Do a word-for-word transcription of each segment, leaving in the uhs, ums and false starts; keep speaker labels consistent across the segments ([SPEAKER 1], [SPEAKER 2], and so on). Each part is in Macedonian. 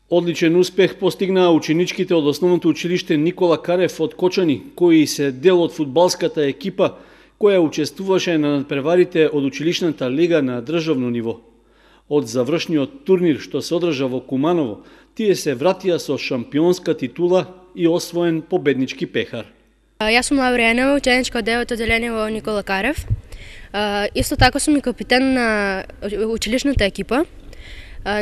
[SPEAKER 1] Одличен успех постигнаа ученичките од основното училиште Никола Карев од Кочани, кои се дел од фудбалската екипа која учествуваше на надпреварите од училишната лига на државно ниво. Од завршниот турнир што се одржа во Куманово, тие се вратија со шампионска титула и освоен победнички пехар.
[SPEAKER 2] Јас сум Лавриена, ученичка од девето одделение во Никола Карев. Исто така сум и капитен на училишната екипа.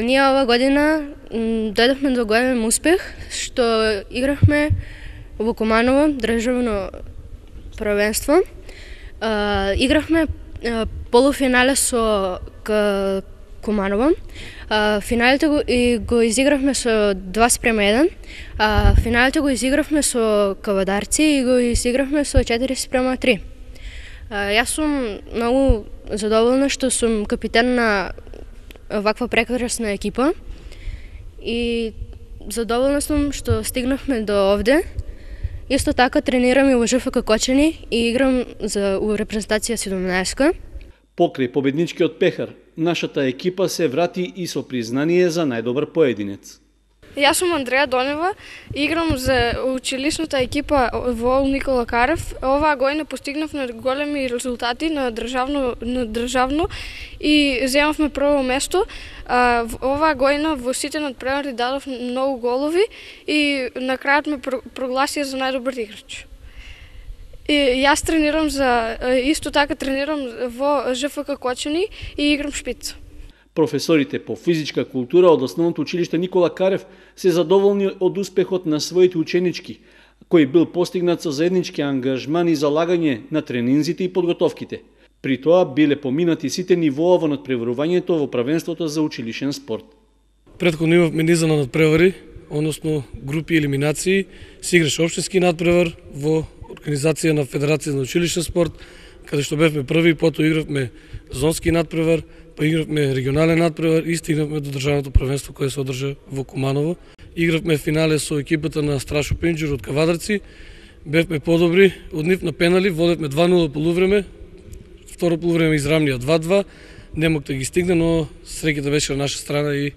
[SPEAKER 2] Ние ова година дојдовме до голем успех, што играхме во Куманово државно првенство. Играхме полуфинале со Куманово. Финалите го, и го изигравме со два спрема еден. Финалите го изигравме со Кавадарци и го изигравме со четири спрема три. Јас сум многу задоволна што сум капитен на ваква прекрасна екипа и задоволна сум што стигнавме до овде. Исто така тренирам и во ЖФК Кочани и играм за репрезентација седумнаесетка.
[SPEAKER 1] Покрај победничкиот пехар, нашата екипа се врати и со признание за најдобар поединец.
[SPEAKER 3] Јас сум Андреја Донева, играм за училишната екипа во Никола Карев. Оваа година постигнавме големи резултати на државно, на државно и земавме прво место. Оваа година во сите надпревари дадов многу голови и на крајот ме прогласија за најдобар играч. И јас тренирам за исто така тренирам во ЖФК Кочани и играм шпиц.
[SPEAKER 1] Професорите по физичка култура од основното училиште Никола Карев се задоволни од успехот на своите ученички, кој бил постигнат со заеднички ангажман и залагање на тренинзите и подготовките. При тоа биле поминати сите нивоа во надпреварувањето во првенството за училишен спорт.
[SPEAKER 4] Претходно имавме низа на надпревари, односно групи елиминации, се играше општински надпревар во организација на Федерација на училишен спорт, каде што бевме први, потоа игравме зонски надпревар, па игравме регионален надпревар и стигнавме до државното првенство кое се одржа во Куманово. Игравме финале со екипата на Страшо Пинџур од Кавадарци. Бевме подобри, од нив на пенали, водевме два нула полувреме, второ полувреме израмнија два два. Не мог да ги стигне, но среќата беше на наша страна и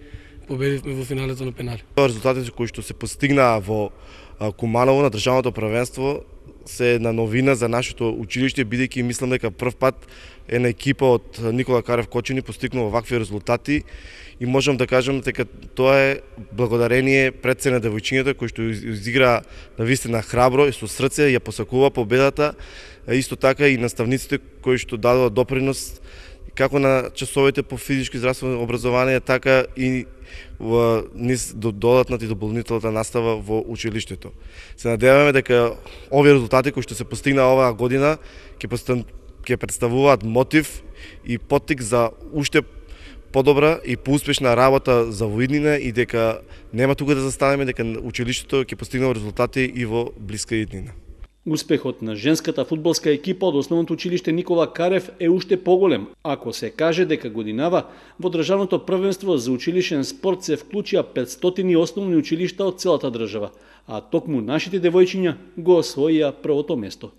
[SPEAKER 4] победивме во финалето на пенали.
[SPEAKER 5] Резултатите кои што се постигнаа во Куманово на државното првенство се една новина за нашето училиште, бидејќи мислам дека прв пат една екипа од Никола Карев Кочани постигнува вакви резултати и можам да кажам дека тоа е благодарение пред се на девојчињата кои што изигра навистина храбро и со срце ја посакува победата, исто така и наставниците кои што дадоа допринос како на часовите по физичко и здравствено образование, така и во низ додатната и дополнителната настава во училиштето. Се надеваме дека овие резултати кои што се постигнаа оваа година ќе ќе представуваат мотив и поттик за уште подобра и поуспешна работа за воиднина и дека нема тука да застанеме, дека училиштето ќе постигнува резултати и во блиска иднина.
[SPEAKER 1] Успехот на женската фудбалска екипа од основното училиште Никола Карев е уште поголем, ако се каже дека годинава во државното првенство за училишен спорт се вклучија петстотини основни училишта од целата држава, а токму нашите девојчиња го освоија првото место.